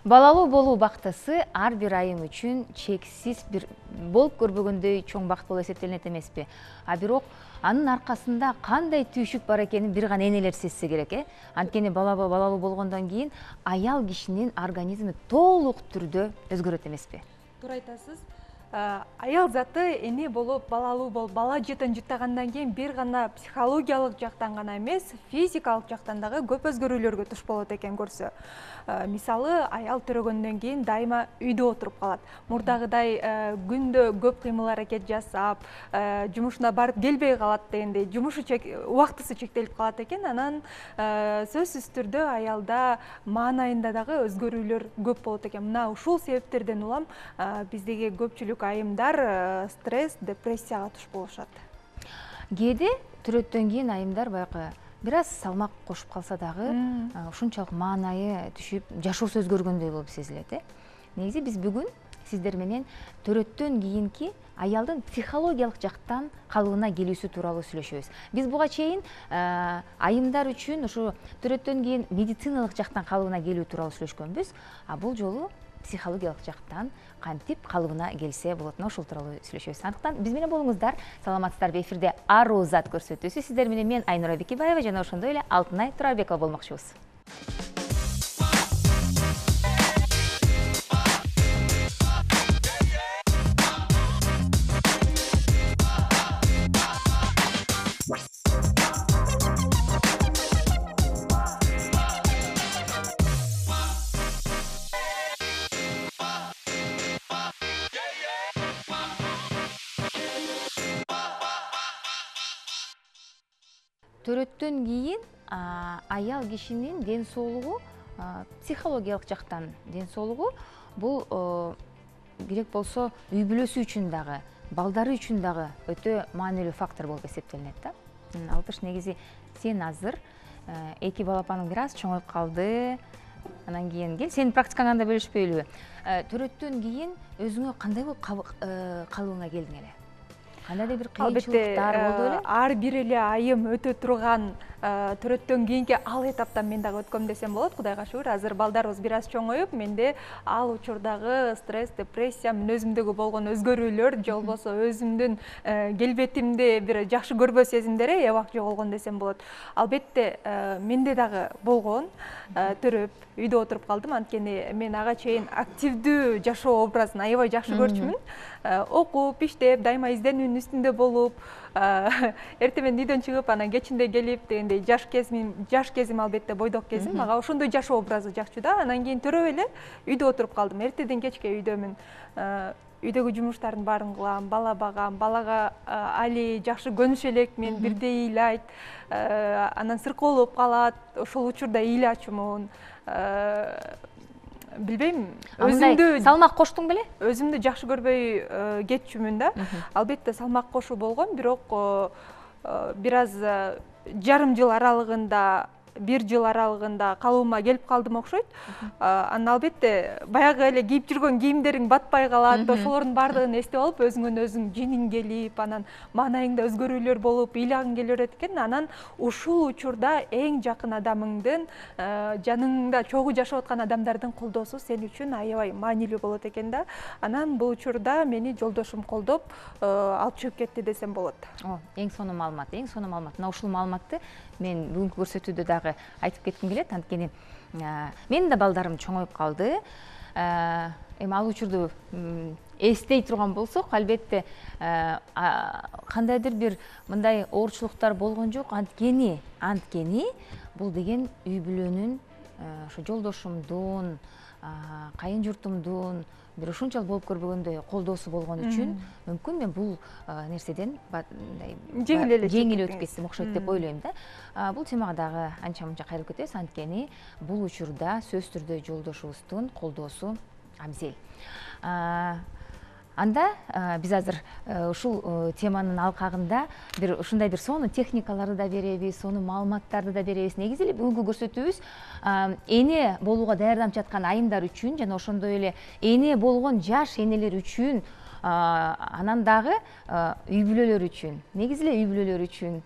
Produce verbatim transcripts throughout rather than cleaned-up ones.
Балалуу болуу бактысы ар бир айым үчүн чексиз бир болуп көрбөгөндөй чоң бакыт болуп эсептелинет эмеспи? А бирок анын аркасында кандай түйшүк бар экенин бир гана энелер сезсе керек, э? Анткени балалуу болгондон кийин аял кишинин организми толук түрдө өзгөрөт эмеспи? Туура айтасыз. Аял заты эне болуп, балалуу болуп, бала жытын жыттагандан кийин бир гана психологиялык жактан гана эмес, физикалык жактан дагы көп өзгөрүүлөргө туш болот экен көрсө. Мисалы, аял төрөгөндөн кийин дайыма үйдө отуруп калат. Мурдагыдай күндө көп кыймыл аракет жасап, жумушуна барып келбей калат дегендей, жумушу убактысы чектелип калат экен. Анан сөзсүз түрдө аялда маанайында дагы өзгөрүүлөр көп болот экен. Мына ушул себептерден улам биздеги көпчүлүк айымдар стресс, депрессияга туш болушат. Кээде төрөттөн кийин айымдар баягы бир аз салмак кошуп калса дагы ушунчалык маанайы түшүп, жашоосу өзгөргөндөй болуп сезилет, э? Негизи биз бүгүн сиздер менен төрөттөн кийинки аялдын психологиялык жактан калыбына келүүсү тууралуу сүйлөшөбүз. Биз буга чейин айымдар үчүн ушу төрөттөн кийин медициналык жактан калыбына келүү тууралуу сүйлөшкөнбүз, а бул жолу психологиялык жактан кантип калыбына келсе болотуна ошол тууралуу сүйлөшөбүз. Андыктан биз менен болуңуздар. Саламатсыздарбы? Эфирде Аруу зат көрсөтүүсү. Сиздер менен мен Айнура Бекебаева жана ошондой эле Алтынай Турарбекова болмокчубуз. Төрөттөн кийин аял кишинин ден соолугу, психологиялык жактан ден соолугу бул керек болсо үй бүлөсү үчүн дагы, балдары үчүн дагы өтө маанилүү фактор болуп эсептелинет да. Алтыш, негизи сен азыр эки балапаның бир аз чоңоюп калды. Анан кийин кел, сенин практикаңды да бөлүшпөйлүбү? Төрөттөн кийин өзүңө кандай болуп калыбыңа келдиң эле? Кандайдыр бир кыйынчылыктар болду беле? Ар бир эле айым өтө турган төрөттөн кийинки ал этаптан мен дагы өткөм десем болот. Кудайга шүгүр, азыр балдарыбыз бир аз чоңоюп, менде ал учурдагы стресс, депрессия, мен өзүмдөгү болгон өзгөрүүлөр, же болбосо өзүмдүн келбетимди бир жакшы көрбөө сезимдери эбак жоголгон десем болот. Албетте, менде дагы болгон. Төрөп, үйдө отуруп калдым, анткени мен ага чейин активдүү жашоо образын аябай жакшы көрчүмүн. Окуп, иштеп, дайыма изденүүнүн үстүндө болуп, эртең менен үйдөн чыгып, анан кечинде келип дегендей жаш кезим, жаш кезим албетте бойдок кезим, мага ошондой жашоо образы жакчу да. Анан кийин төрөп эле үйдө отуруп калдым. Эртеден кечке үйдөмүн. Үйдөгү жумуштардын баарын кылам, бала багам, балага али жакшы көнүш элекмин, бирдей ыйлайт, анан сыркоолоп калат, ошол учурда ыйлы ачумун. Билбейм, өзүмдү салмак коштуң беле? Өзүмдү жакшы көрбөй кетчүмүн да. Албетте салмак кошуу болгон, бирок бир аз жарым жыл аралыгында, бир жыл аралыгында калыбыма келип калдым окшойт. Анан албетте баягы эле кийип жүргөн кийимдериң батпай калат, ошолордун баардыгын эстеп алып, өзүңөн өзүң жиниң келип, анан маанайыңда өзгөрүүлөр болуп, ыйлагың келе берет экен. Анан ушул учурда эң жакын адамыңдын, жаныңда чогуу жашап аткан адамдардын колдоосу сен үчүн аябай маанилүү болот экен да. Анан бул учурда мени жолдошум колдоп алып чыгып кетти десем болот. О, эң сонун маалымат, эң сонун маалымат. Мына ушул маалыматты мен бүгүнкү көрсөтүүдө дагы айтып кетким келет, анткени менин да балдарым чоңоюп калды. Эми ал учурду эстей турган болсок, албетте кандайдыр бир мындай оорчулуктар болгон жок. Анткени, анткени бул деген үй бүлөнүн, ошо жолдошумдун, кайын журтумдун бир ушунчалык болуп көрбөгөндөй колдоосу болгон үчүн мүмкүн мен бул нерседен жеңил өтүп кеттим окшойт деп ойлойм да. Бул темага дагы анча мынча кайрылып кетебиз, анткени бул учурда сөзсүз түрдө жолдошубуздун колдоосу абзел. Анда биз азыр ушул теманын алкагында бир ушундай бир сонун техникаларды да беребиз, сонун маалыматтарды да беребиз. Негизи эле бүгүнкү көрсөтүүбүз эне болууга даярданып жаткан айымдар үчүн жана ошондой эле эне болгон жаш энелер үчүн, анан дагы үй бүлөлөр үчүн, негизи эле үй бүлөлөр үчүн,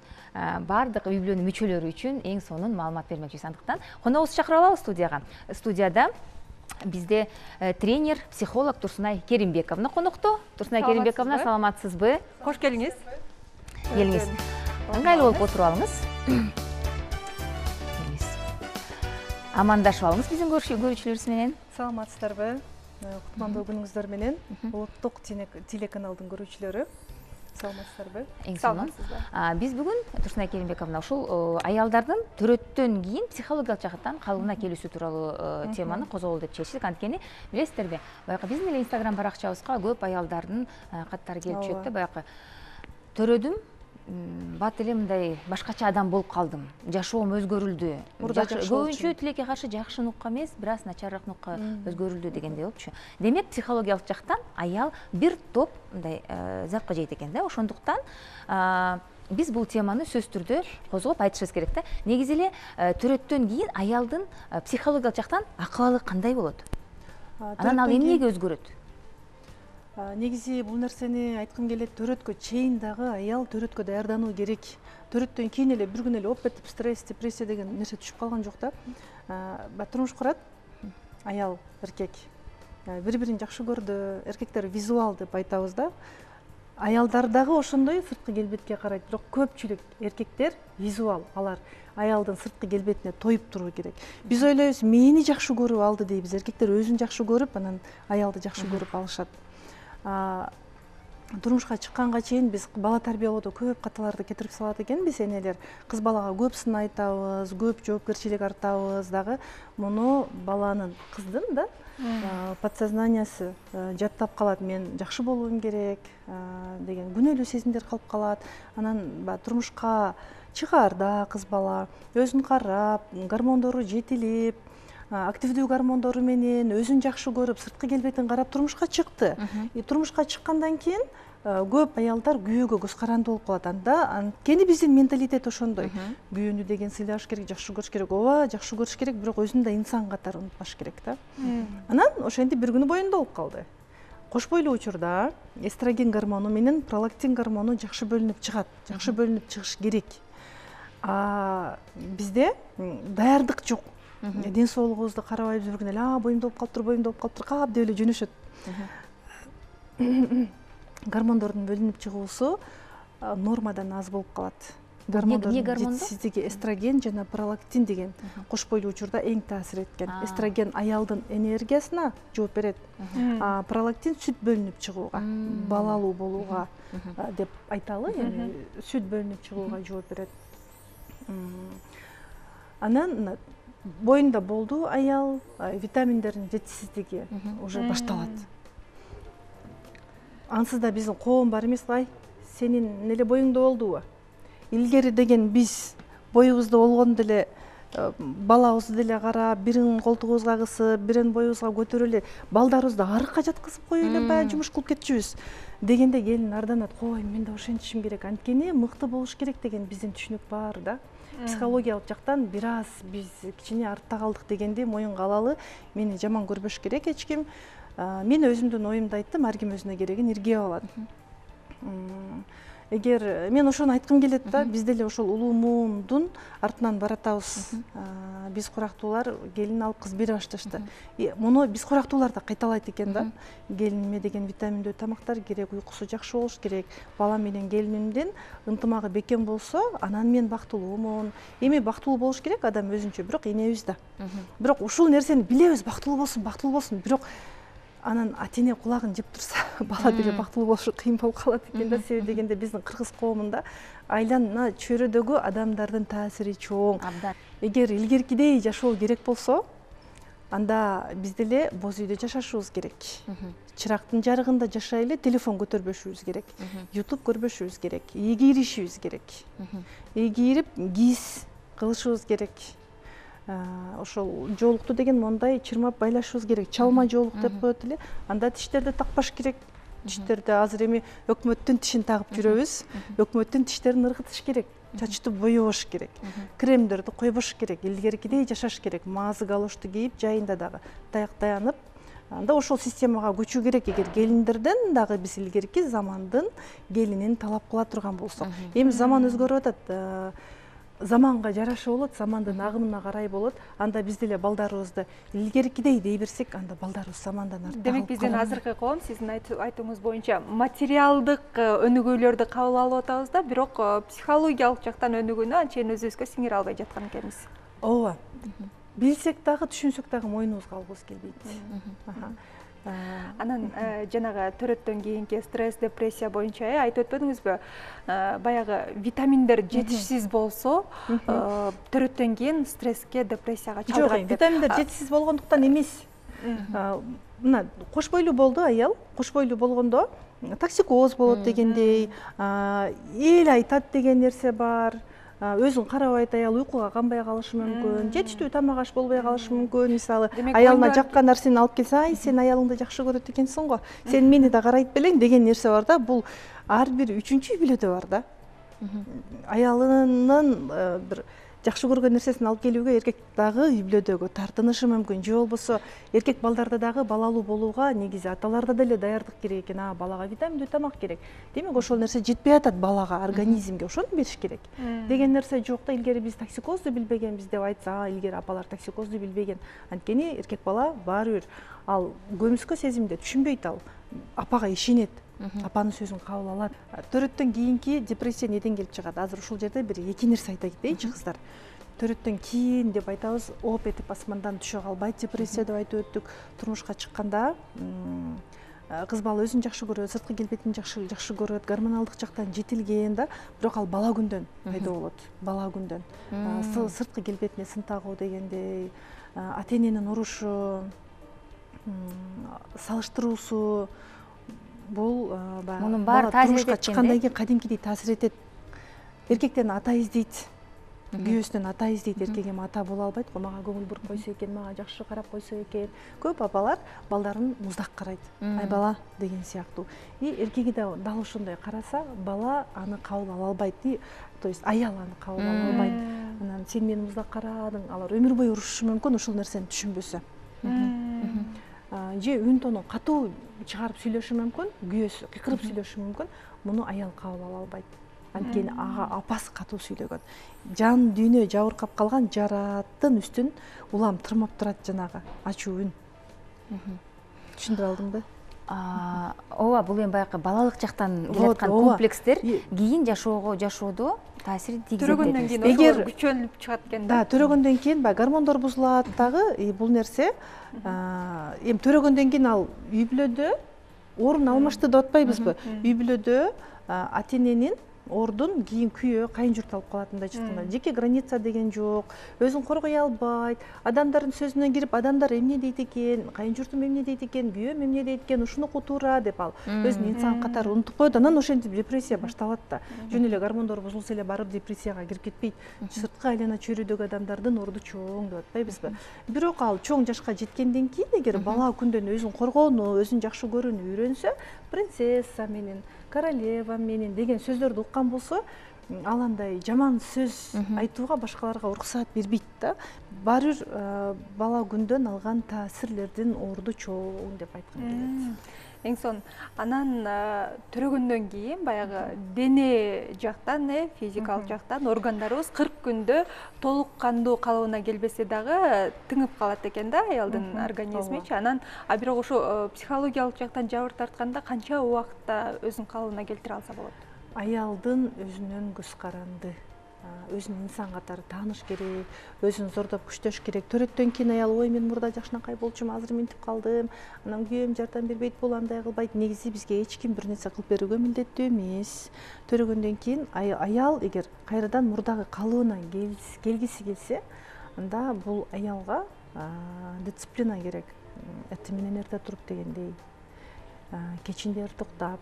баардык үй бүлөнүн мүчөлөрү үчүн эң сонун маалымат бермекчибиз. Андыктан коногубузду чакырып алабыз студияга. Студияда бизде тренер, психолог Турсунай Керимбековна конокто. Турсунай Керимбековна, саламатсызбы? Кош келиңиз. Келиңиз. Ыңгайлуу болуп отуруп алыңыз. Амандашып алыңыз биздин көрүүчүлөрүбүз менен. Саламатсыздарбы? Кутмандуу күнүңүздөр менен. Улуттук телеканалдын көрүүчүлөрү. Саламатсыздарбы? Эң сонун. Биз бүгүн Турсунай Керимбековна ушул аялдардын төрөттөн кийин психологиялык жактан калыбына келүүсү тууралуу теманы козгоолу деп чечтик. Анткени билесиздерби, баягы биздин эле Instagram баракчабызга көп аялдардын каттары келип түшөт да, баягы төрөдүм, бат эле мындай башкача адам болуп калдым, жашоом өзгөрүлдү. Көбүнчө тилекке каршы жакшы нукка эмес, бир аз начарыраак нукка өзгөрүлдү дегендей болупчу. Демек, психологиялык жактан аял бир топ мындай запка жейт экен да. Ошондуктан биз бул теманы сөзсүз түрдө козгоп айтышыбыз керек да. Негизи эле төрөттөн кийин аялдын психологиялык жактан акыбалы кандай болот? Анан ал эмнеге өзгөрөт? Негизи бул нерсени айткым келет, төрөткө чейин дагы аял төрөткө даярдануу керек. Төрөттөн кийин эле бир күн эле оп этип стресс, депрессия деген нерсе түшүп калган жок да. Турмуш курат аял, эркек. Бири-бирин жакшы көрдү, эркектер визуал деп айтабыз да. Аялдар дагы ошондой сырткы келбетке карайт, бирок көпчүлүк эркектер визуал, алар аялдын сырткы келбетине тоюп туруу керек. Биз ойлойбуз, мени жакшы көрүп алды дейбиз. Эркектер өзүн жакшы көрүп, анан аялды жакшы көрүп алышат. Турмушка чыкканга чейин биз бала тарбиялоодо көп каталарды кетирип салат экенбиз, энелер. Кыз балага көп сын айтабыз, көп жоопкерчилик артабыз дагы. Муну баланын, кыздын да подсознаниясы жаттап калат. Мен жакшы болуум керек деген күнөөлүү сезимдер калып калат. Анан турмушка чыгаарда кыз бала өзүн карап, гормондору жетилип, активдүү гормондору менен өзүн жакшы көрүп, сырткы келбетин карап турмушка чыкты. Турмушка чыккандан кийин көп аялдар күйөөгө көз каранды болуп калат. Анда анткени биздин менталитет ошондой. Күйөөнү деген сыйлаш керек, жакшы көрүш керек. Ооба, жакшы көрүш керек, бирок өзүн да инсан катары унутпаш керек да. Анан ошентип бир күнү боюнда болуп калды. Кош бойлуу учурда эстроген гормону менен пролактин гормону жакшы бөлүнүп чыгат, жакшы бөлүнүп чыгыш керек. А бизде даярдык жок. Ден соолугубузду карабайбыз, бир күн эле а боюмда болуп калыптыр, боюмда болуп калыптыр, кап деп эле жөнөшөт. Гормондордун бөлүнүп чыгуусу нормадан аз болуп калат. Гормондордун жетишсиздиги эстроген жана пролактин деген кош бойлуу учурда эң таасир эткен. Эстроген аялдын энергиясына жооп берет, а пролактин сүт бөлүнүп чыгууга, балалуу болууга деп айталы, эми сүт бөлүнүп чыгууга жооп берет. Анан боюнда болду аял, витаминдердин жетишсиздиги уже башталат. Ансыз да биздин коом бар эмес, ай, сенин эле боюңда болдубу? Илгери деген биз боюбузда болгондо эле балабызды деле карап, бирин колтугубузга кысып, бирин боюбузга көтөрүп эле балдарыбызды арыкка жаткызып коюп эле баягы жумуш кылып кетчүбүз. Дегенде келин арданат, ой, мен да ошентишим керек, анткени мыкты болуш керек деген биздин түшүнүк бар да. Психологиялык жактан бир аз биз кичине артта калдык дегенди моюнга алалы. Мени жаман көрбөш керек эч ким. Мен өзүмдүн оюмду айттым, ар ким өзүнө керегин иргип алат. Эгер мен ошону айткым келет да, биз деле ошол улуу муундун артынан баратабыз. Биз курактуулар келин алып кыз бере башташты. Муну биз курактуулар да кайталайт экен да. Келиниме деген витаминдүү тамактар керек, уйкусу жакшы болуш керек. Балам менен келинимдин ынтымагы бекем болсо, анан мен бактылуумун. Эми бактылуу болуш керек адам өзүнчө, бирок энебиз да. Бирок ушул нерсени билебиз, бактылуу болсун, бактылуу болсун, бирок анан ата-эне кулагын жеп турса, бала деле бактылуу болушу кыйын болуп калат экен да. Себеби дегенде биздин кыргыз коомунда айлана чөйрөдөгү адамдардын таасири чоң. Эгер илгеркидей жашоо керек болсо, анда биз деле боз үйдө жашашыбыз керек. Чырактын жарыгында жашай эле телефон көтөрбөшүбүз керек. YouTube көрбөшүбүз керек. үй кийишибиз керек. үй кийирип кийиз кылышыбыз керек. Ошол жоолукту деген мондай чырмап байлашыбыз керек. Чалма жоолук деп коет эле. Анда тиштерди такпаш керек. Тиштерди азыр эми өкмөттүн тишин тагып жүрөбүз. Өкмөттүн тиштерин ыргытыш керек. Чачты боебош керек. Кремдерди койбош керек. Илгеркидей жашаш керек. Мазы галошту кийип, жайында дагы таяк таянып, анда ошол системага көчүү керек. Эгер келиндерден дагы биз илгерки замандын келинин талап кыла турган болсок. Эми заман өзгөрүп атат. заманга жараша болот, замандын агымына карай болот. Анда биз деле балдарыбызды илгеркидей дей берсек, анда балдарыбыз замандан артта. Демек биздин азыркы коом сиздин айтууңуз боюнча материалдык өнүгүүлөрдү кабыл алып атабыз да, бирок психологиялык жактан өнүгүүнү анчейин өзүбүзгө сиңире албай жаткан экенбиз. Ооба. Билсек дагы, түшүнсөк дагы мойнубузга алгыбыз келбейт. Анан жанагы төрөттөн кийинки стресс, депрессия боюнча айтып өтпөдүңүзбү? Баягы витаминдер жетишсиз болсо, төрөттөн кийин стресске, депрессияга чалдыгат деп. Жок, витаминдер жетишсиз болгондуктан эмес. Мына кош бойлуу болду аял, кош бойлуу болгондо токсикоз болот дегендей, эл айтат деген нерсе бар. Өзүн карабайт аял, уйкуга канбай калышы мүмкүн, жетиштүү тамак аш болбой калышы мүмкүн. Мисалы, аялына жаккан нерсени алып келсе, ай, сен аялыңды жакшы көрөт экенсиң го, сен мени да карайт белең деген нерсе бар да. Бул ар бир үчүнчү үй бүлөдө бар да. Аялынын бир жакшы көргөн нерсесин алып келүүгө эркек дагы үй бүлөдөгү тартынышы мүмкүн. Же болбосо эркек балдарда дагы балалуу болууга негизи аталарда деле даярдык керек экен. А, балага витаминдүү тамак керек. Демек ошол нерсе жетпей атат балага, организмге, ошону бериш керек. Деген нерсе жок да. Илгери биз токсикозду билбегенбиз деп айтса, илгери апалар токсикозду билбеген. Анткени эркек бала баары бир ал көмүскө сезимде түшүнбөйт, ал апага ишенет. Апанын сөзүн кабыл алат. Төрөттөн кийинки депрессия неден келип чыгат? Азыр ушул жерде бир эки нерсе айта кетейинчи кыздар. Төрөттөн кийин деп айтабыз, оп этип асмандан түшө калбайт депрессия деп айтып өттүк. Турмушка чыкканда кыз бала өзүн жакшы көрөт, сырткы келбетин жакшы жакшы көрөт, гормоналдык жактан жетилген да, бирок ал бала күндөн пайда болот. Бала күндөн. Сырткы келбетине сын тагуу дегендей, ата эненин урушу, салыштыруусу, бул мунун баары таасир этет. Турмушка чыккандан кийин кадимкидей таасир этет. Эркектен ата издейт. Күйөөсүнөн ата издейт. Эркек эми ата боло албайт го, мага көңүл буруп койсо экен, мага жакшы карап койсо экен. Көп апалар балдарын муздак карайт. Ай бала деген сыяктуу. И эркеги да дал ошондой караса, бала аны кабыл ала албайт. То есть аял аны кабыл ала албайт. Анан сен мени муздак карадың, алар өмүр бою урушушу мүмкүн ошол нерсени түшүнбөсө. Же үн тонун катуу чыгарып сүйлөшү мүмкүн, күйөөсү кыйкырып сүйлөшү мүмкүн. Муну аял кабыл ала албайт. Анткени ага апасы катуу сүйлөгөн. Жан дүйнө жабыркап калган жараттын үстүн улам тырмап турат жанагы ачуу үн. Түшүндүрүп алдыңбы? Ооба, бул эми баягы балалык жактан келаткан комплекстер кийин жашоого жашоодо таасир тийгизет. Төрөгөндөн кийин ошолор күчөнүп чыгат экен да. Да, төрөгөндөн кийин баягы гормондор бузулат дагы. Бул нерсе эми төрөгөндөн кийин ал үй бүлөдө орун алмашты деп атпайбызбы? Үй бүлөдө ата эненин ордун кийин күйөө, кайын журт алып калат мындай чыкканда. Жеке граница деген жок, өзүн коргой албайт, адамдардын сөзүнө кирип, адамдар эмне дейт экен, кайын журтум эмне дейт экен, күйөөм эмне дейт экен, ушунуку туура деп ал өзүн инсан катары унутуп коет. Анан ошентип депрессия башталат да. Жөн эле гормондор бузулса эле барып депрессияга кирип кетпейт. Сырткы айлана чөйрөдөгү адамдардын орду чоң деп атпайбызбы? Бирок ал чоң жашка жеткенден кийин эгер бала күндөн өзүн коргоону, өзүн жакшы көрүүнү үйрөнсө, принцесса менен, королева менен деген сөздөрдү уккан болсо, ал андай жаман сөз айтууга башкаларга уруксаат бербейт да. Баары бир бала күндөн алган таасирлердин орду чоң деп айткым келет. Эң сон, анан төрөгөндөн кийин баягы дене жактан, физикалык жактан органдарыбыз кырк күндө толук кандуу калыбына келбесе дагы тыңып калат экен да аялдын организмичи. Анан а бирок ошо психологиялык жактан жабыр тартканда канча убакытта өзүнүн калыбына келтире алса болот? Аялдын өзүнөн көз каранды, өзүн инсан катары тааныш керек, өзүн зордоп күчтөш керек. Төрөттөн кийин аял ой мен мурда жакшынакай болчумун, азыр минтип калдым, анан күйөөм жардам бербейт, бул андай кылбайт. Негизи бизге эч ким бир нерсе кылып берүүгө милдеттүү эмес. Төрөгөндөн кийин аял эгер кайрадан мурдагы калыбына келгиси келсе, анда бул аялга дисциплина керек. Эртең менен эрте туруп дегендей, кечинде ыртыктап,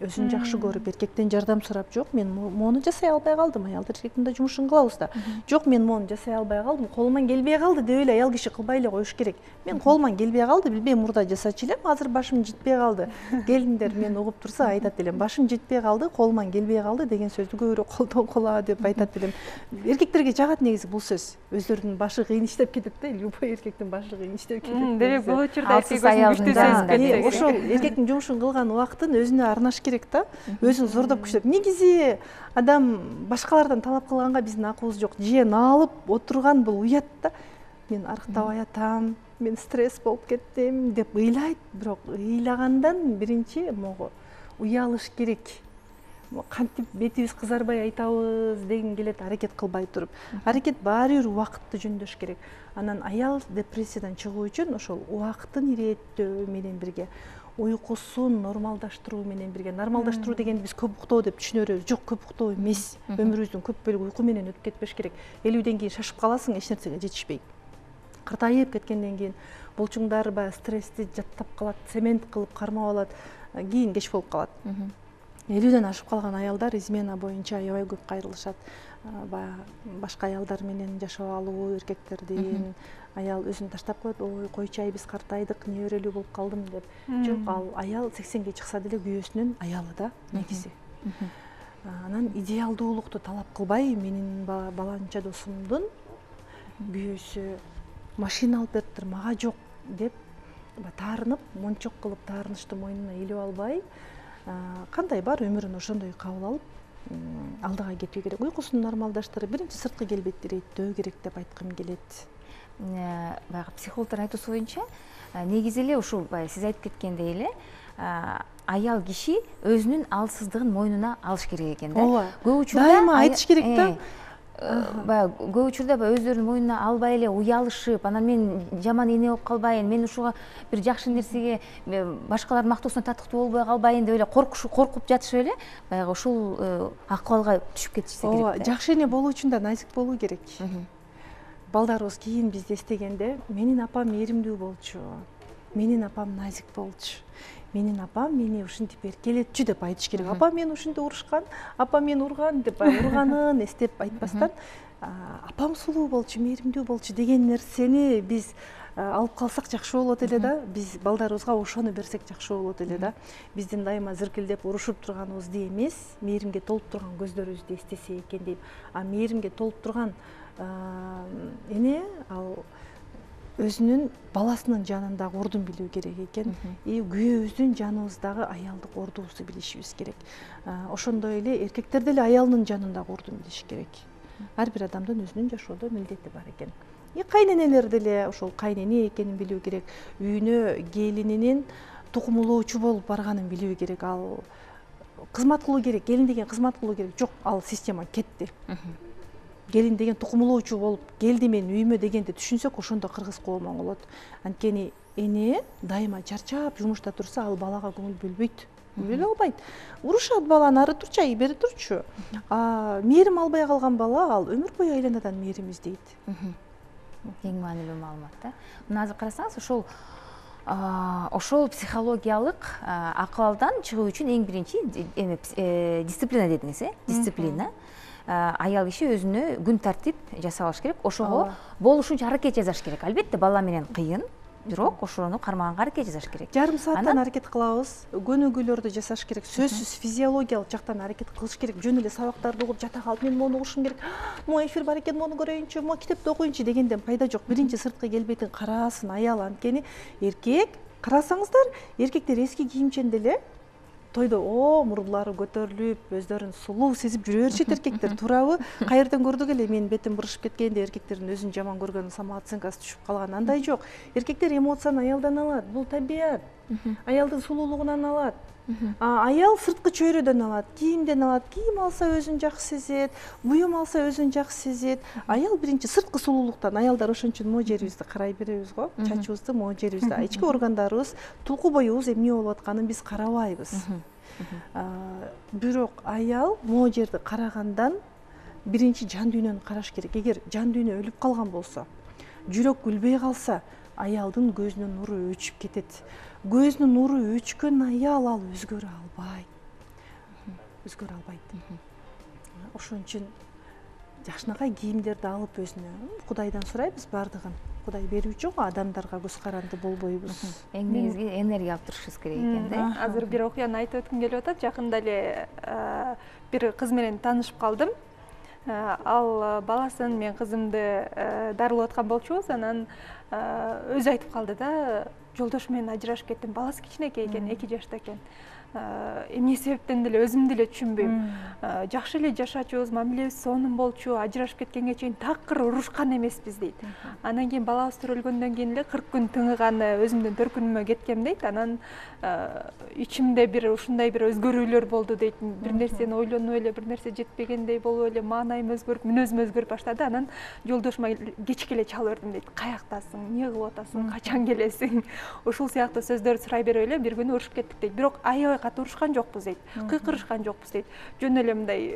өзүн жакшы көрүп, эркектен жардам сурап, жок, мен мону жасай албай калдым, аял эркектин да жумушун кылабыз да. Жок, мен мону жасай албай калдым, колуман келбей калды деп эле аял киши кылбай эле коюш керек. Мен колуман келбей калды, билбейм, мурда жасачу элем, азыр башым жетпей калды. Келиндер мени угуп турса айтат элем, башым жетпей калды, колуман келбей калды деген сөздү көбүрөөк колдонгула деп айтат элем. Эркектерге жагат негизи бул сөз. Өздөрүнүн башы кыйын иштеп кетет да, любой эркектин башы кыйын иштеп кетет. Демек бул учурда эркек өзүн күчтүү сезип кетет. Ошол эркектин жумушун кылган убактын өзүнө арнаш керек да, өзүн зордоп күчтөп. Негизи адам башкалардан талап кылганга биздин акыбыз жок. Жен алып отурган бул уят да. Мен арыктабай атам, мен стресс болуп кеттим деп ыйлайт, бирок ыйлагандан биринчи могу уялыш керек. Кантип бетибиз кызарбай айтабыз деген келет, аракет кылбай туруп. Аракет баары бир убакытты жөндөш керек. Анан аял депрессиядан чыгуу үчүн ошол убакытын ирээттөө менен бирге, уйкусун нормалдаштыруу менен бирге. Нормалдаштыруу дегенди биз көп уктоо деп түшүнө беребиз. Жок, көп уктоо эмес. Өмүрүбүздүн көп бөлүгү уйку менен өтүп кетпеш керек. элүүдөн кийин шашып каласың, эч нерсеге жетишпей. Картайып кеткенден кийин булчуңдар баягы стрессти жаттап калат, цемент кылып кармап алат, кийин кеч болуп калат. элүүдөн ашып калган аялдар измена боюнча аябай көп кайрылышат. Баягы башка аялдар менен жашап алуу, эркектердин, аял өзүн таштап коет, ой койчу биз картайдык, неберелүү болуп калдым деп. Жок, ал аял сексенге чыкса деле күйөөсүнүн аялы да негизи. Анан идеалдуулукту талап кылбай, менин баланча досумдун күйөөсү машина алып бериптир, мага жок деп таарынып, мончок кылып таарынычты мойнуна илип албай, кандай бар өмүрүн ошондой кабыл алып, алдыга кетүү керек. Уйкусун нормалдаштырып, биринчи сырткы келбетти иреттөө керек деп айткым келет. Баягы психологдордун айтуусу боюнча, негизи эле ушул сиз айтып кеткендей эле, аял киши өзүнүн алсыздыгын мойнуна алыш керек экен да. Көп учурда дайыма айтыш керек да. Баягы көп учурда өздөрүнүн мойнуна албай эле уялышып, анан мен жаман эне болуп калбайын, мен ушуга бир жакшы нерсеге башкалардын мактоосуна татыктуу болбой калбайын деп эле коркуп жатышып эле баягы ушул акыбалга түшүп кетишсе керек. Ооба, жакшы эне болуу үчүн да назик болуу керек. Балдарыбыз кийин бизди эстегенде, менин апам мээримдүү болчу, менин апам назик болчу, менин апам мени ушинтип эркелетчү деп айтыш керек. Апам мени ушинтип урушкан, апам мени урган деп урганын эстеп айтпастан, апам сулуу болчу, мээримдүү болчу деген нерсени биз алып калсак жакшы болот эле да. Биз балдарыбызга ошону берсек жакшы болот эле да. Биздин дайыма зыркилдеп урушуп турганыбызды эмес, мээримге толуп турган көздөрүбүздү эстесе экен дейм. А мээримге толуп турган эне ал өзүнүн баласынын жанындагы ордун билүү керек экен. И күйөөбүздүн жаныбыздагы аялдык ордубузду билишибиз керек. Ошондой эле эркектер деле аялынын жанындагы ордун билиш керек. Ар бир адамдын өзүнүн жашоодо милдети бар экен. И кайненелер деле ошол кайнене экенин билүү керек. Үйүнө келининин тукумулоочу болуп барганын билүү керек. Ал кызмат кылуу керек, келин деген кызмат кылуу керек. Жок, ал система кетти. Келин деген тукумулоочу болуп келди мен үйүмө дегенди түшүнсөк, ошондо кыргыз коому болот. Анткени эне дайыма чарчап жумушта турса, ал балага көңүл бөлбөйт. Бөлө албайт. Урушат баланы, ары турчу, ай бери турчу. А мээрим албай калган бала ал өмүр бою айланадан мээрим издейт. Эң маанилүү маалымат да. Мына азыр карасаңыз, ошол ошол психологиялык акыбалдан чыгуу үчүн эң биринчи дисциплина дедиңиз, э? Дисциплина. Аял киши өзүнө күн тартип жасап алыш керек. Ошого болушунча аракет жасаш керек. Албетте бала менен кыйын, бирок ошону кармаганга аракет жасаш керек. Жарым сааттан аракет кылабыз, көнүгүүлөрдү жасаш керек. Сөзсүз физиологиялык жактан аракет кылыш керек. Жөн эле сабактарды угуп жата калып, мен мону угушум керек. Могу эфир бар экен, мону көрөйүнчү, могу китепти окуйунчу дегенден пайда жок. Биринчи сырткы келбетин караасын аял. Анткени эркек, карасаңыздар, эркектер эски кийимчен деле тойдо о мурулары көтөрүлүп, өздөрүн сулуу сезип жүрө беришет эркектер. Туурабы? Кайерден көрдүк эле мен бетим бурушуп кеткенде эркектердин өзүн жаман көргөн самооценкасы түшүп калган. Андай жок. Эркектер эмоцияны аялдан алат. Бул табият. Аялдын сулуулугунан алат. А аял сырткы чөйрөдөн алат, кийимден алат. Кийим алса өзүн жакшы сезет, буюм алса өзүн жакшы сезет. Аял биринчи сырткы сулуулуктан. Аялдар ошон үчүн могу жерибизди карай беребиз го. Чачыбызды, могу жерибизди, ички органдарыбыз, тулку боюбуз эмне болуп атканын биз карабайбыз. Бирок аял могу жерди карагандан биринчи жан дүйнөнү караш керек. Эгер жан дүйнө өлүп калган болсо, жүрөк күлбөй калса, аялдын көзүнүн нуру өчүп кетет. Көзүнүн нуру өчкөн аял ал өзгөрө албайт. Өзгөрө албайт. Ошон үчүн жакшынакай кийимдерди алып өзүнө Кудайдан сурайбыз бардыгын. Кудай берүүчү го, адамдарга көз каранды болбойбуз. Эң негизги энергия алып турушубуз керек экен да. Азыр бир окуяны айтып өткүм келип атат. Жакында эле бир кыз менен таанышып калдым. Ал баласын, мен кызымды дарылап аткан болчубуз. Анан өзү айтып калды да, жолдош менен ажырашып кеттим. Баласы кичинекей экен, эки жашта экен. эмне себептен деле өзүм деле түшүнбөйм. Жакшы эле жашачубуз, мамилебиз сонун болчу, ажырашып кеткенге чейин такыр урушкан эмеспиз дейт. Анан кийин балабыз төрөлгөндөн кийин эле кырк күн тынгыганы өзүмдүн төркүнүмө кеткем дейт. Анан ичимде бир ушундай бир өзгөрүүлөр болду дейт. Бир нерсени ойлонуп эле, бир нерсе жетпегендей болуп эле, маанайым өзгөрүп, мүнөзүм өзгөрүп баштады. Анан жолдошума кечке эле чалып бердим дейт. Каяктасың, эмне кылып атасың, качан келесиң? Ушул сыяктуу сөздөрдү сурай берип эле бир күнү урушуп кеттик дейт. Бирок аябай катуу урушкан жокпуз дейт. Кыйкырышкан жокпуз дейт. Жөн эле мындай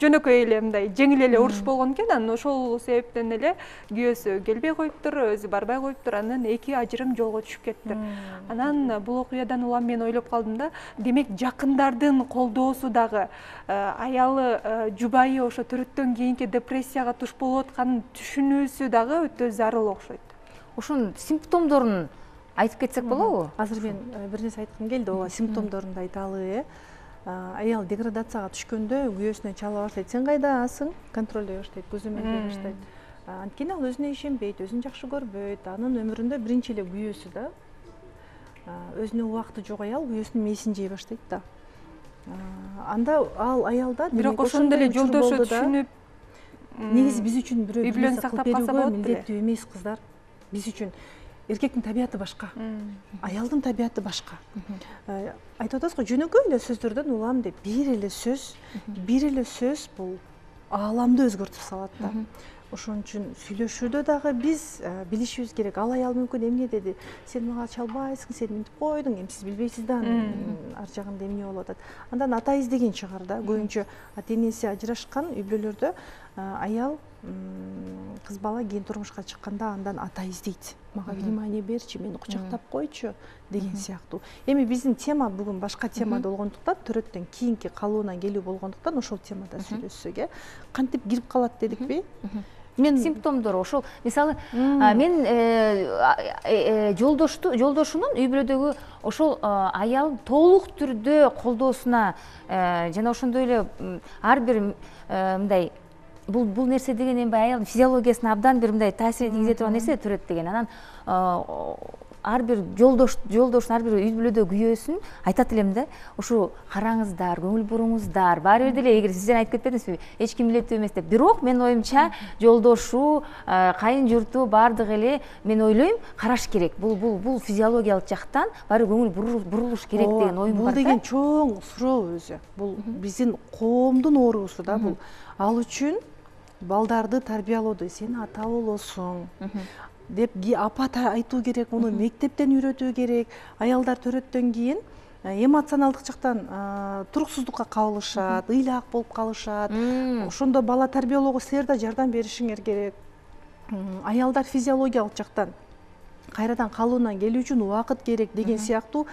жөнөкөй эле мындай жеңил эле уруш болгон экен. Анан ошол себептен эле күйөөсү келбей коюптур, өзү барбай коюптур. Анан эки ажырым жолго түшүп кеттир. Анан бул окуядан улам мен ойлоп калдым да, демек жакындардын колдоосу дагы аялы, жубайы ошо төрөттөн кийинки депрессияга туш болуп атканын түшүнүүсү дагы өтө зарыл окшойт. Ошонун симптомдорун айтып кетсек болобу? Азыр мен бир нерсе айткым келди, ооба, симптомдорун айталы. Аял деградацияга түшкөндө күйөөсүнө чала баштайт. Сен кайдасың? Контролдой баштайт, көзөмөлдөй баштайт. Анткени ал өзүнө ишенбейт, өзүн жакшы көрбөйт. Анын өмүрүндө биринчи эле күйөөсү да. Өзүнө убакыты жок аял күйөөсүнүн мээсин жей баштайт да. Анда ал аялда бирок ошондой эле жолдошу түшүнүп, негизи биз үчүн бирөө үй-бүлөнү сактап калса болот беле. Милдеттүү эмес кыздар. Биз үчүн эркектин табияты башка, аялдын табияты башка. Айтып атасыз го, жөнөкөй эле сөздөрдөн улам деп, бир эле сөз, бир эле сөз бул ааламды өзгөртүп салат да. Ошон үчүн сүйлөшүүдө дагы биз билишибиз керек. Ал аял мүмкүн эмне деди? Сен мага чалбайсың, сен мынтип койдуң, эми сиз билбейсиз да ар жагында эмне болуп атат. Андан ата издеген чыгар да. Көбүнчө ата энеси ажырашкан үй бүлөлөрдө аял кыз бала кийин турмушка чыкканда андан ата издейт. Мага внимание берчи, мени кучактап койчу деген сыяктуу. Эми биздин тема бүгүн башка темада болгондуктан, төрөттөн кийинки калыбына келүү болгондуктан ошол темада сүйлөшсөк, э, кантип кирип калат дедикпи? Мен симптомдору ошол, мисалы, мен жолдошту, жолдошунун үй бүлөдөгү ошол аял толук түрдө колдоосуна жана ошондой эле ар бир мындай бул бул нерсе деген эми аялдын физиологиясына абдан бир мындай таасир тийгизе турган нерсе төрөт деген. Анан ар бир жолдош жолдоштун ар бир үй бүлөдө күйөөсүн айтат элем да, ушу караңыздар, көңүл буруңуздар, баары бир деле эгер сиздер айтып кетпедиңизби, эч ким билеттүү эмес деп. Бирок менин оюмча жолдошу, кайын журту баардыгы эле мен ойлойм караш керек. Бул бул бул физиологиялык жактан баары көңүл бурулуш керек деген оюм бар да. Бул деген чоң суроо өзү. Бул биздин коомдун оорусу да бул. Ал үчүн балдарды тарбиялоодо сен ата болосуң деп апа айтуу керек, муну мектептен үйрөтүү керек. Аялдар төрөттөн кийин эмоционалдык жактан туруксуздукка кабылышат, ыйлаак болуп калышат. Ошондо бала тарбиялоого силер да жардам беришиңер керек. Аялдар физиологиялык жактан кайрадан калыбына келүү үчүн убакыт керек деген сыяктуу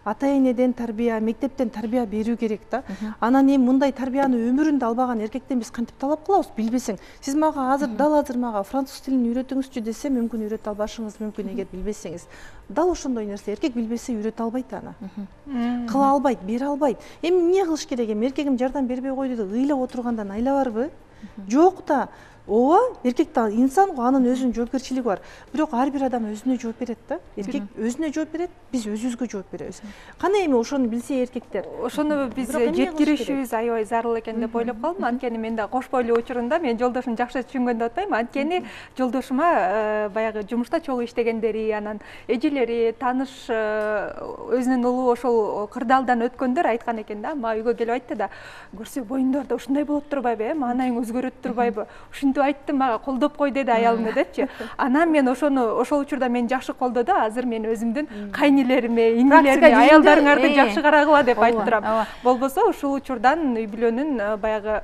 ата-энеден тарбия, мектептен тарбия берүү керек да. Анан эми мындай тарбияны өмүрүндө албаган эркектен биз кантип талап кылабыз? Билбесең, сиз мага азыр дал азыр мага француз тилин үйрөтүңүзчү десе, мүмкүн үйрөтө албашыңыз мүмкүн эгер билбесеңиз. Дал ошондой нерсе, эркек билбесе үйрөтө албайт аны. Кыла албайт, бере албайт. Эми эмне кылыш керек? Эми эркегим жардам бербей койду деп ыйлап отургандан айла барбы? Жок да. Ооба, эркек да инсан го, анын өзүнүн жоопкерчилиги бар. Бирок ар бир адам өзүнө жооп берет да. Эркек өзүнө жооп берет, биз өзүбүзгө жооп беребиз. Кана эми ошону билсе эркектер. Ошону биз жеткиришибиз аябай зарыл экен деп ойлоп калдым. Анткени мен да кош бойлуу учурунда мен жолдошум жакшы түшүнгөн деп атпайм. Анткени жолдошума баягы жумушта чогуу иштегендери, анан эжелери, тааныш өзүнүн улуу ошол кырдаалдан өткөндөр айткан экен да. Мага үйгө келип айтты да, көрсө боюңдарда ушундай болуп турбайбы, маанайың өзгөрөт турбайбы? Айтты мага колдоп кой деди аялым депчи. Анан мен ошону ошол учурда мени жакшы колдоду. Азыр мен өзүмдүн кайнелериме, инилериме аялдарыңарды жакшы карагыла деп айтып турам. Болбосо ушул учурдан үй бүлөнүн баягы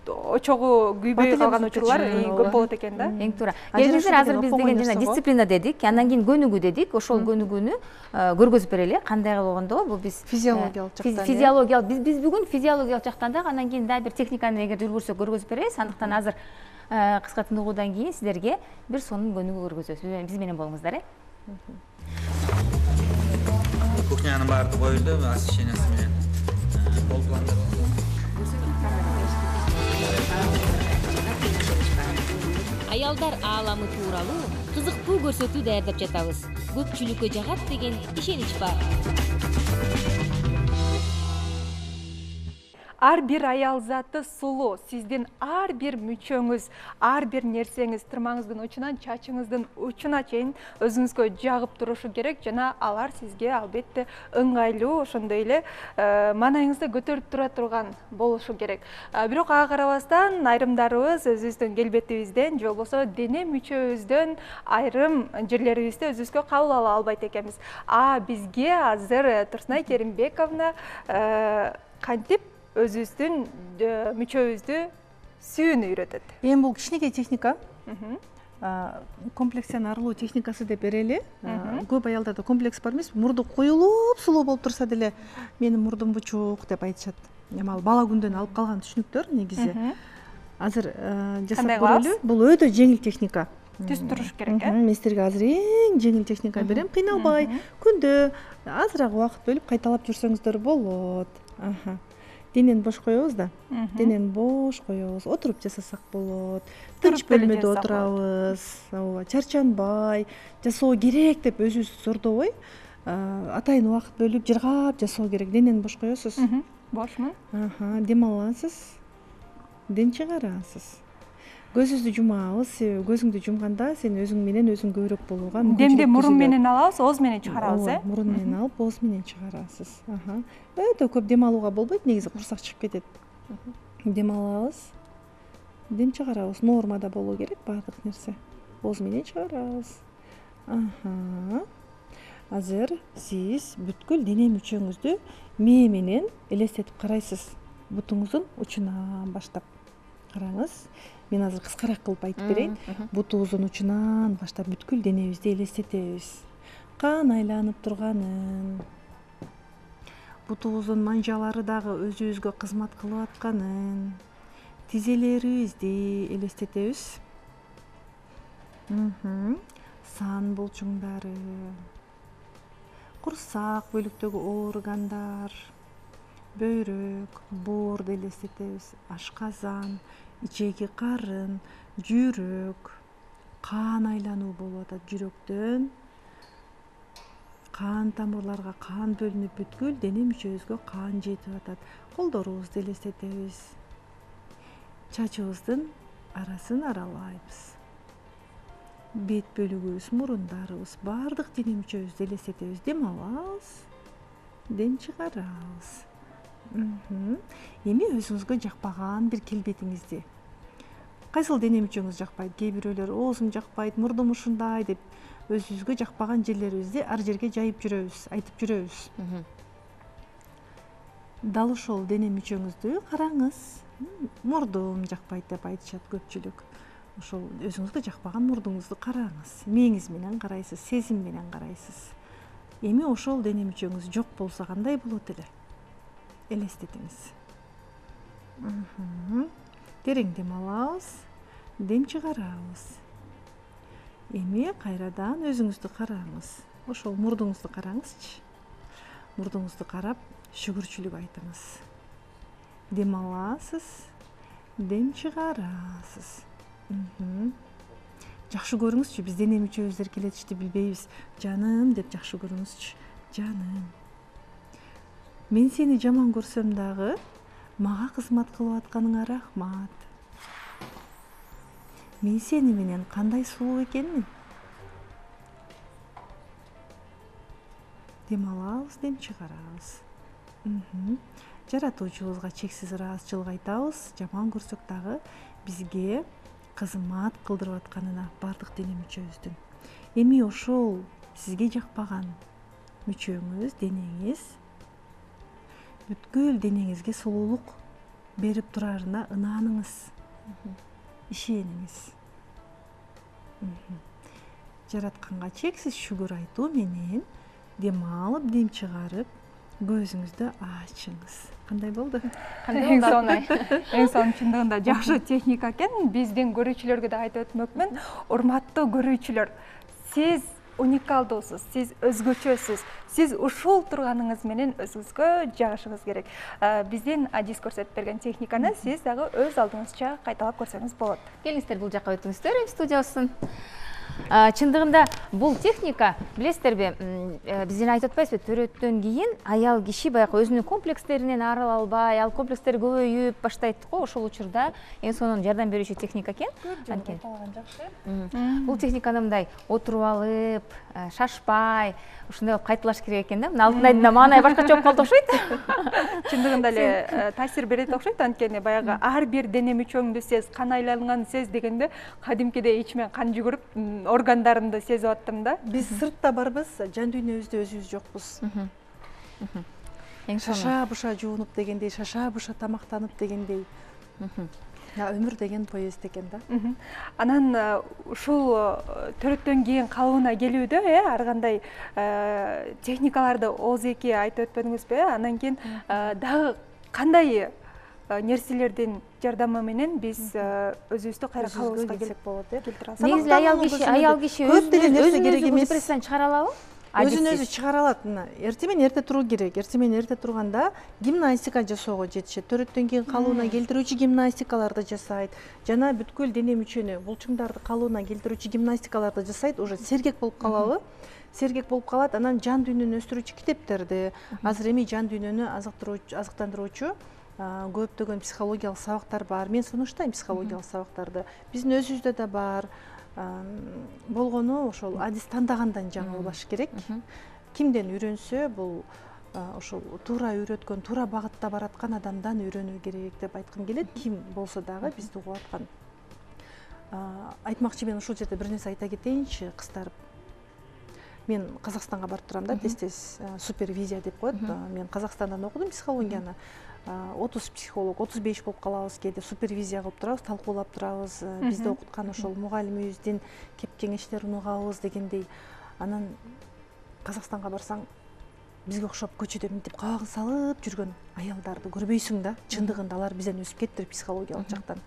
очогу күйбөй калган учурлар көп болот экен да. Эң туура. Келиңиздер, азыр биз деген жана дисциплина дедик, андан кийин көнүгүү дедик. Ошол көнүгүүнү көргөзүп берели. Кандай болгондо бул биз физиологиялык жактан. Физиологиялык биз биз бүгүн физиологиялык жактан да, андан кийин да бир техниканы эгер үлгүрсөк көргөзүп беребиз. Андыктан азыр кыска тыныгуудан кийин сиздерге бир сонун көнүгүү көргөзөбүз. Биз менен болуңуздар, э. Кухнянын баары коюлду, освещениясы менен болуп аялдар ааламы тууралуу кызыктуу көрсөтүү даярдап жатабыз. Көпчүлүккө жагат деген ишенич бар. Ар бир аял заты сулуу. Сиздин ар бир мүчөңүз, ар бир нерсеңиз тырмаңыздын учунан чачыңыздын учуна чейин өзүңүзгө жагып турушу керек жана алар сизге албетте ыңгайлуу, ошондой эле маанайыңызды көтөрүп тура турган болушу керек. Бирок ага карабастан айрымдарыбыз өзүбүздүн келбетибизден же болбосо дене мүчөбүздөн айрым жерлерибизди өзүбүзгө кабыл ала албайт экенбиз. А бизге азыр Турсунай Керимбековна кантип өзүбүздүн мүчөбүздү сүйүүнү үйрөтөт. Эми бул кичинекей техника. Комплексиянын арылуу техникасы деп берели. Көп аялдарда комплекс бар эмес, мурду коюлуп сулуу болуп турса деле менин мурдум бучук деп айтышат. Эми ал бала күндөн алып калган түшүнүктөр негизи. Азыр жасап көрөлү. Бул өтө жеңил техника. Түз туруш керек, э? Мен силерге азыр эң жеңил техника берем. Кыйналбай, күндө азыраак убакыт бөлүп кайталап жүрсөңүздөр болот. Денени бош коебуз да. Денени бош коебуз. Отуруп жасасак болот. Тынч бөлмөдө отурабыз. Ооба, чарчанбай, жасоо керек деп өзүбүздү зордобой, атайын убакыт бөлүп жыргап жасоо керек. Денени бош коесуз. Бошмун. Дем аласыз. Дем чыгарасыз. Көзүңүздү жумабыз, себеби көзүңдү жумганда сен өзүң менен өзүң көбүрөөк болууга мүмкүнчүлүк. Демди мурун менен алабыз, ооз менен чыгарабыз, э? Мурун менен алып, ооз менен чыгарасыз. Өтө көп дем алууга болбойт, негизи курсак чыгып кетет. Дем алабыз, дем чыгарабыз. Нормада болуу керек баардык нерсе. Ооз менен чыгарабыз. Азыр сиз бүткүл дене мүчөңүздү мээ менен элестетип карайсыз. Бутуңуздун учунан баштап. Караңыз. Мен азыр кыскараак кылып айтып берейин. Бутубуздун учунан баштап бүткүл денебизди элестетебиз. Кан айланып турганын, бутубуздун манжалары дагы өзүбүзгө кызмат кылып атканын, тизелерибизди элестетебиз. Сан булчуңдары, курсак бөлүктөгү органдар, бөйрөк, боорду элестетебиз. Ашказан, ичеги карын, жүрөк, кан айлануу болуп атат жүрөктөн. Кан тамырларга кан бөлүнүп бүткүл дене мүчөбүзгө кан жетип атат. Колдорубузду элестетебиз. Чачыбыздын арасын аралайбыз. Бет бөлүгүбүз, мурундарыбыз, баардык дене мүчөбүздү элестетебиз. Дем алабыз, дем чыгарабыз. Эми өзүңүзгө жакпаган бир келбетиңизди. Кайсыл дене мүчөңүз жакпайт? Кээ бирөөлөр оозум жакпайт, мурдум ушундай деп өзүбүзгө жакпаган жерлерибизди ар жерге жайып жүрөбүз, айтып жүрөбүз. Дал ошол дене мүчөңүздү караңыз. Мурдум жакпайт деп айтышат көпчүлүк. Ошол өзүңүзгө жакпаган мурдуңузду караңыз. Мээңиз менен карайсыз, сезим менен карайсыз. Эми ошол дене мүчөңүз жок болсо кандай болот эле? Элестетиңиз. Терең дем алабыз, дем чыгарабыз. Эми кайрадан өзүңүздү караңыз. Ошол мурдуңузду караңызчы. Мурдуңузду карап, шүгүрчүлүк айтыңыз. Дем аласыз, дем чыгарасыз. Жакшы көрүңүзчү, биз дене мүчөбүз эркелетишти билбейбиз. Жаным деп жакшы көрүңүзчү. Жаным. Мен сени жаман көрсөм дагы, мага кызмат кылып атканыңа рахмат. Мен сени менен кандай сулуу экенмин? Дем алабыз, дем чыгарабыз. Жаратуучубузга чексиз ыраазычылык айтабыз. Жаман көрсөк дагы бизге кызмат кылдырып атканына баардык дене мүчөбүздүн. Эми ошол сизге жакпаган мүчөңүз, денеңиз бүткүл денеңизге сулуулук берип турарына ынаныңыз. Ишениңиз. Жаратканга чексиз шүгүр айтуу менен дем алып, дем чыгарып, көзүңүздү ачыңыз. Кандай болду? Эң сонун. Эң сонун, чындыгында жакшы техника экен. Биздин көрүүчүлөргө да айтып өтмөкмүн. Урматтуу көрүүчүлөр, сиз уникалдуусуз, сиз өзгөчөсүз. Сиз ушул турганыңыз менен өзүңүзгө жагышыңыз керек. Биздин Адис көрсөтүп берген техниканы сиз дагы өз алдыңызча кайталап көрсөңүз болот. Келиңиздер, бул жакка өтүңүздөр, студиябыздын. Чындыгында бул техника, билесиздерби, биздин айтып атпайбызбы, төрөттөн кийин аял киши баягы өзүнүн комплекстеринен арыла албай, ал комплекстер көбөйүп баштайт го, ошол учурда эң сонун жардам берүүчү техника экен. Анткени бул техниканы мындай отуруп алып, шашпай, ушундай болуп кайталаш керек экен да. Мына алтын айдын маанайы башкача болуп калды окшойт. Чындыгында эле таасир берет окшойт, анткени баягы ар бир дене мүчөңдү сез, кан айланганын сез дегенде кадимкидей ичимен кан жүгүрүп органдарымды сезип аттым да. Биз сыртта барбыз, жан дүйнөбүздө өзүбүз жокпуз. Шаша буша жуунуп дегендей, шаша буша тамактанып дегендей. Өмүр деген поезд экен да. Анан ушул төрөттөн кийин калыбына келүүдө, э, ар кандай техникаларды ооз-эки айтып өтпөдүңүзбү? Анан кийин дагы кандай нерселердин жардамы менен биз өзүбүздү кайра калыбыбызга келсек болот, э? Негизи аял киши, аял киши көп деле нерсе керек эмес. Депрессиядан чыгара алабы? Өзүн өзү чыгара алат. Мына эртең менен эрте туруу керек. Эртең менен эрте турганда гимнастика жасоого жетишет. Төрөттөн кийин калыбына келтирүүчү гимнастикаларды жасайт. Жана бүткүл дене мүчөнү, булчуңдарды калыбына келтирүүчү гимнастикаларды жасайт. Уже сергек болуп калабы? Сергек болуп калат. Анан жан дүйнөнү өстүрүүчү китептерди, азыр эми жан дүйнөнү азыктыруучу, азыктандыруучу көптөгөн психологиялык сабактар бар. Мен сунуштайм психологиялык сабактарды. Биздин өзүбүздө да бар. Болгону ошол адис тандагандан жаңылбаш керек. Кимден үйрөнсө, бул ошол туура үйрөткөн, туура багытта бараткан адамдан үйрөнүү керек деп айткым келет. Ким болсо дагы бизди угуп аткан. Айтмакчы, мен ушул жерде бир нерсе айта кетейинчи, кыздар. Мен Казакстанга барып турам да, тез-тез супервизия деп коет. Мен Казакстандан окудум психологияны. отуз психолог, отуз беш болуп калабыз, кээде супервизия кылып турабыз, талкуулап турабыз. Бизде окуткан ошол мугалимибиздин кеп кеңештерин угабыз дегендей. Анан Казакстанга барсаң, бизге окшоп көчөдө мынтип кабагын салып жүргөн аялдарды көрбөйсүң да. Чындыгында алар бизден өсүп кеттир психологиялык жактан.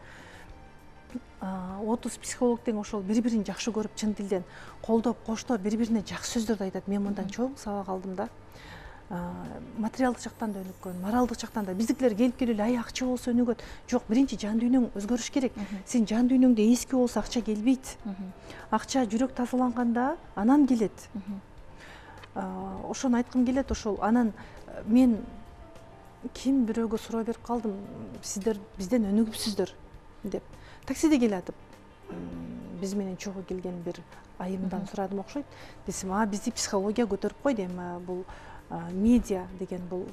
отуз психолог тең ошол бири-бирин жакшы көрүп, чын тилден колдоп, коштоп, бири-бирине жакшы сөздөрдү айтат. Мен мындан чоң сабак алдым да. Материалдык жактан да өнүккөн, моралдык жактан да. Биздикилер келип келип эле ай акча болсо өнүгөт. Жок, биринчи жан дүйнөң өзгөрүш керек. Сен жан дүйнөңдө эски болсо акча келбейт. Акча жүрөк тазаланганда анан келет. Ошону айткым келет. Ошол анан мен ким бирөөгө суроо берип калдым, сиздер бизден өнүгүпсүздөр деп. Таксиде келатып, биз менен чогуу келген бир айымдан сурадым окшойт. Десем, а бизди психология көтөрүп койду, эми бул медиа деген, бул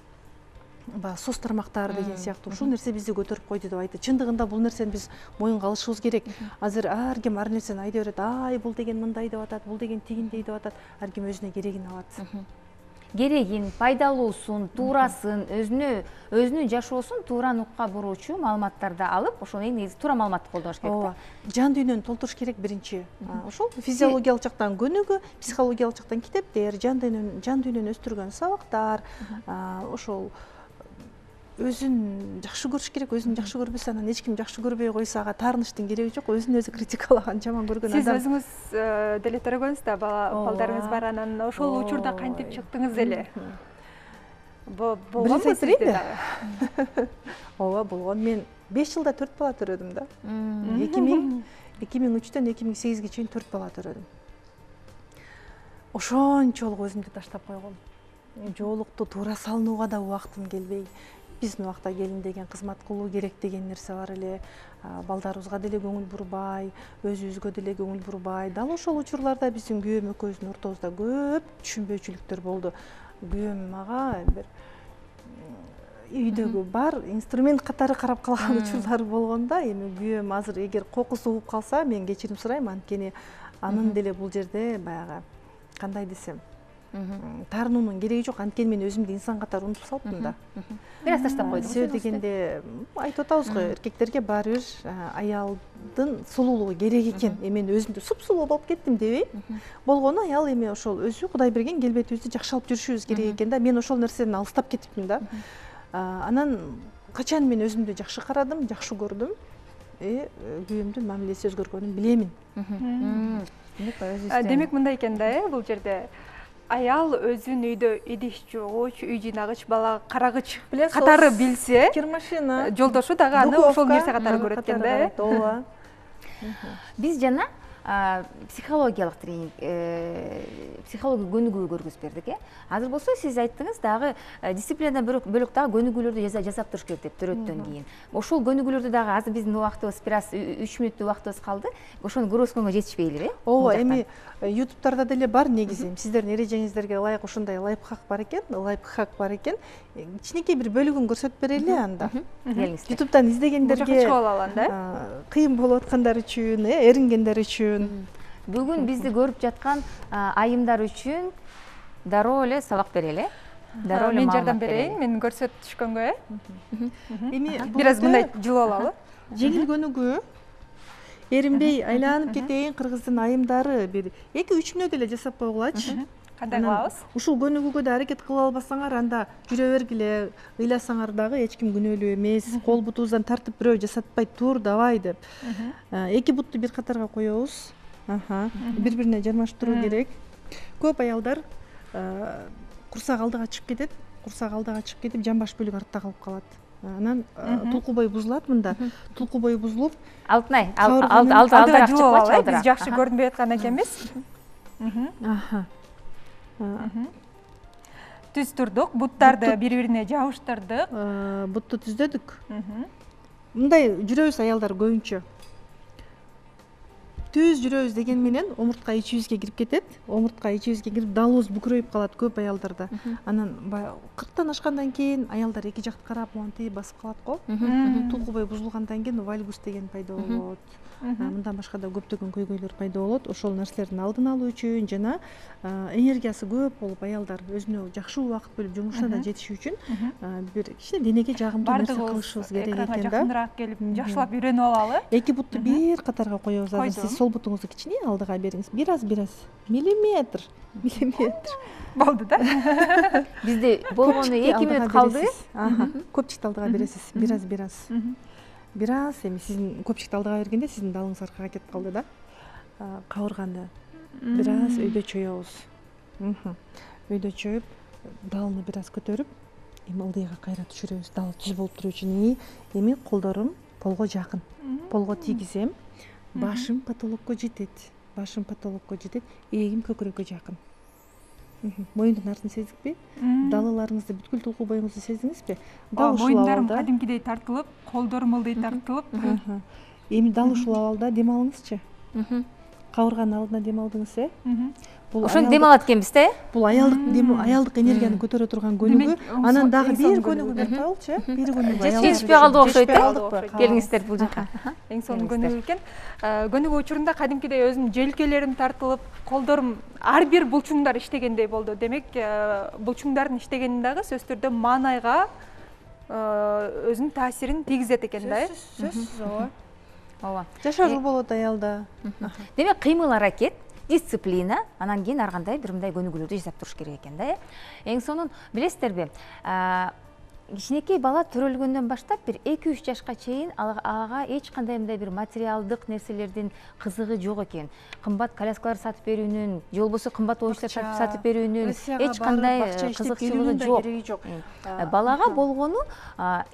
баягы соц тармактары деген сыяктуу ушул нерсе бизди көтөрүп койду деп айтты. Чындыгында бул нерсени биз моюнга алышыбыз керек. Азыр ар ким ар нерсени айта берет. Ай, бул деген мындай деп атат, бул деген тигиндей деп атат. Ар ким өзүнө керегин алат. Керегин, пайдалуусун, туурасын, өзүнө өзүнүн жашоосун туура нукка буруучу маалыматтарды алып, ошол эң негизи туура маалыматты колдош керек. Ооба. Жан дүйнөнү толтуруш керек биринчи. Ошол физиологиялык жактан көнүгүү, психологиялык жактан китептер, жан дүйнөнү, жан дүйнөнү өстүргөн сабактар, ошол өзүн жакшы көрүш керек. Өзүн жакшы көрбөсө, анан эч ким жакшы көрбөй койсо, ага таарынычтын кереги жок. Өзүн өзү критикалаган, жаман көргөн адам. Сиз өзүңүз деле төрөгөнсүз да, балдарыңыз бар, анан ошол учурда кантип чыктыңыз эле? Болгонбу сизде дагы? Ооба, болгон. Мен беш жылда төрт бала төрөдүм да. эки миң үчтөн эки миң сегизге чейин төрт бала төрөдүм. Ошончолук өзүмдү таштап койгом. Жоолукту туура салынууга да убактым келбей. Биздин убакта келин деген кызмат кылуу керек деген нерсе бар эле. Балдарыбызга деле көңүл бурбай, өзүбүзгө деле көңүл бурбай. Дал ошол учурларда биздин күйөөм экөөбүздүн ортобузда көп түшүнбөөчүлүктөр болду. Күйөөм мага бир үйдөгү бар инструмент катары карап калган учурлары болгондо, эми күйөөм азыр эгер кокус угуп калса, мен кечирим сурайм, анткени анын деле бул жерде баягы кандай десем, таарынуунун кереги жок. Анткени мен өзүмдү инсан катары унутуп салыптым да. Бир аз таштап койдум. Себеби дегенде айтып атабыз го, эркектерге баары бир аялдын сулуулугу керек экен. Эми мен өзүмдү суп-сулуу болуп кеттим дебей. Болгону аял эми ошол өзү Кудай берген келбетибизди жакшы алып жүрүшүбүз керек экен да. Мен ошол нерседен алыстап кетиптим да. Анан качан мен өзүмдү жакшы карадым, жакшы көрдүм, э күйөөмдүн мамилеси өзгөргөнүн билемин. демек мындай экен да, э, бул жерде аял өзүн үйдө идиш жуугуч, үй жыйнагыч, бала карагыч катары билсе, кир машина, жолдошу дагы аны ошол нерсе катары көрөт экен да, э? Ооба. Биз жана психологиялык тренинг, психология көнүгүү көргүзүп бердик, э. Азыр болсо сиз айттыңыз, дагы дисциплинадан бөлөк дагы көнүгүүлөрдү жасап туруш керек деп төрөттөн кийин. Ошол көнүгүүлөрдү дагы азыр биздин убактыбыз бир аз үч мүнөттүк убактыбыз калды. Ошону көргөзгөнгө жетишпейлиби, э? Ооба, эми ютубтарда деле бар негизи. Сиздердин эрежеңиздерге ылайык ушундай лайфхак бар экен, лайфхак бар экен. Кичинекей бир бөлүгүн көрсөтүп берели анда. Келиңиз. Ютубтан издегендерге чыгып алалы анда, кыйын болуп аткандар үчүн, э, эрингендер үчүн. Бүгүн бизди көрүп жаткан айымдар үчүн дароо эле сабак берели, э? Дароо эле мен жардам берейин, мен көрсөтүп түшкөнгө, э? Эми бир аз мындай жылып алалы. Жеңил көнүгүү. Эринбей айланып кетейин, кыргыздын айымдары бир эки үч мүнөт эле жасап койгулачы. Кандай кылабыз? Ушул көнүгүүгө да аракет кыла албасаңар, анда жүрө бергиле, ыйласаңар дагы эч ким күнөөлүү эмес. Кол бутубуздан тартып бирөө жасатпай тур, давай деп. Эки бутту бир катарга коебуз. Аха, бири-бирине жармаштыруу керек. Көп аялдар курсак алдыга чыгып кетет, курсак алдыга чыгып кетип, жамбаш бөлүк артта калып калат. Анан тулку бой бузулат мында. Тулку бой бузулуп, Алтынай, алдыга чыгып алчы, биз жакшы көрүнбөй аткан экенбиз. Аха. Түз турдук, буттарды бири-бирине жабыштырдык. Бутту түздөдүк. Мындай жүрөбүз аялдар көбүнчө. Түз жүрөбүз деген менен омуртка ичибизге кирип кетет. Омуртка ичибизге кирип, далыбыз бүкүрөйүп калат көп аялдарда. Анан баягы кырктан ашкандан кийин аялдар эки жакты карап, монтип басып калат го. Тулку бой бузулгандан кийин вальгус деген пайда болот. Мындан башка да көптөгөн көйгөйлөр пайда болот. Ошол нерселердин алдын алуу үчүн жана энергиясы көп болуп аялдар өзүнө жакшы убакыт бөлүп жумушуна да жетиш үчүн бир кичине денеге жагымдуу нерсе кылышыбыз керек экен да. Жакыныраак келип, жакшылап үйрөнүп алалы. Эки бутту бир катарга коебуз. Азыр сиз сол бутуңузду кичине алдыга бериңиз. Бир аз, бир аз. Миллиметр. Миллиметр. Болду да. Бизде болгону эки мүнөт калды. Аха. Көпчүктү алдыга бересиз. Бир аз, бир аз. Бир аз, эми сиздин көпчүктү алдыга бергенде сиздин далыңыз аркага кетип калды да. Кабырганы бир аз өйдө чоебуз. Өйдө чоюп, далны бир аз көтөрүп, эми ылдыйга кайра түшүрөбүз. Дал түз болуп туруу үчүн. Эми колдорум полго жакын. Полго тийгизем. Башым потолокко жетет. Башым потолокко жетет. Эгим көкүрөккө жакын. Моюндун артын сездикпи? Далыларыңызды, бүткүл тулку боюңузду сездиңизби? Дал ушул абалда кадимкидей тартылып, колдорум ылдый тартылып. Эми дал ушул абалда дем алыңызчы. Кабырганын алдына дем алдыңыз, э? Ошону дем алат экенбиз да, э? Бул аялдык дем, аялдык энергияны көтөрө турган көнүгүү. Анан дагы бир көнүгүү берип коелучу, э? Бир көнүгүү. Жетишпей калды окшойт, э? Келиңиздер бул жака. Эң сонун көнүгүү экен. Көнүгүү учурунда кадимкидей өзүнүн желкелерим тартылып, колдорум ар бир булчуңдар иштегендей болду. Демек, булчуңдардын иштегени дагы сөзсүз түрдө маанайга өзүнүн таасирин тийгизет экен да, э? Сөзсүз, ооба. Ооба. Жашагыл болот аялда. Демек, кыймыл аракет, дисциплина, анан кийин ар кандай бир мындай көнүгүүлөрдү жасап туруш керек экен да, э? Эң сонун билесиздерби? Кичинекей бала төрөлгөндөн баштап бир эки үч жашка чейин ага эч кандай мындай бир материалдык нерселердин кызыгы жок экен. Кымбат коляскалар сатып берүүнүн, же болбосо кымбат оюнчуктар сатып берүүнүн эч кандай кызыкчылыгы жок. Балага болгону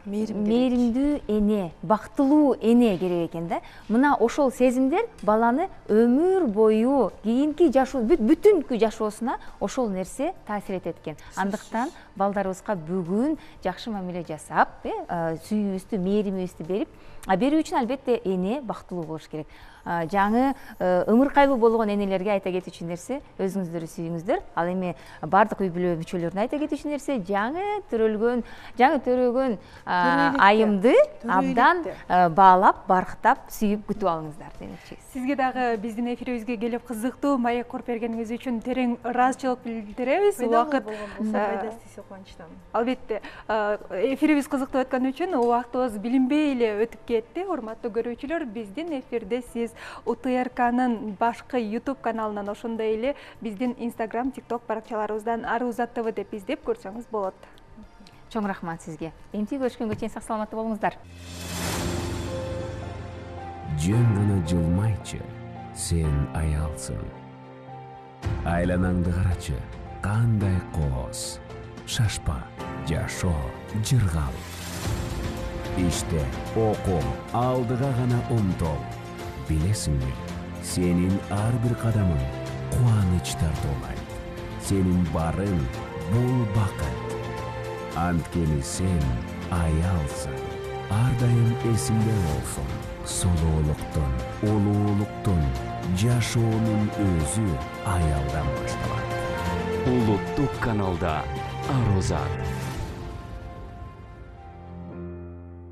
мээримдүү эне, бактылуу эне керек экен да. Мына ошол сезимдер баланы өмүр бою, кийинки жашоо, бүтүнкү жашоосуна ошол нерсе таасир этет экен. Андыктан балдарыбызга бүгүн жакшы мамиле жасап, сүйүүбүздү, мээримибизди берип, берүү үчүн албетте эне бактылуу болуш керек. Жаңы ымыркайлуу болгон энелерге айта кетүүчү нерсе, өзүңүздөрдү сүйүңүздөр. Ал эми бардык үй бүлө мүчөлөрүнө айта кетүүчү нерсе, жаңы төрөлгөн, жаңы төрөгөн айымды абдан баалап, барктап, сүйүп күтүп алыңыздар демекчи. Сизге дагы биздин эфирибизге келип кызыктуу маек куруп бергениңиз үчүн терең ыраазычылык билдиребиз. Убакыт албетте эфирибиз кызыктуу өткөн үчүн убактыбыз билинбей эле өтүп кетти. Урматтуу көрүүчүлөр, биздин эфирде сиз У Т Р К'нын башкы YouTube каналынан, ошондой эле биздин Instagram, TikTok баракчаларыбыздан Аруза Т В деп издеп көрсөңүз болот. Чоң рахмат сизге. Эмти көрүшкөнгө чейин сак саламатта болуңуздар. Жөн гана жылмайчы, сен аялсың. Айланаңды карачы, кандай кооз. Шашпа, жашоо жыргал. Иште окуу, алдыга гана умтул. Билесиңби, сенин ар бир кадамың кубаныч тартуулайт. Сенин барың бул бакыт. Анткени сен аялсың. Ар дайым эсиңде болсун. Сулуулуктун, улуулуктун, жашоонун өзү аялдан башталат. Улуттук каналда Арозат.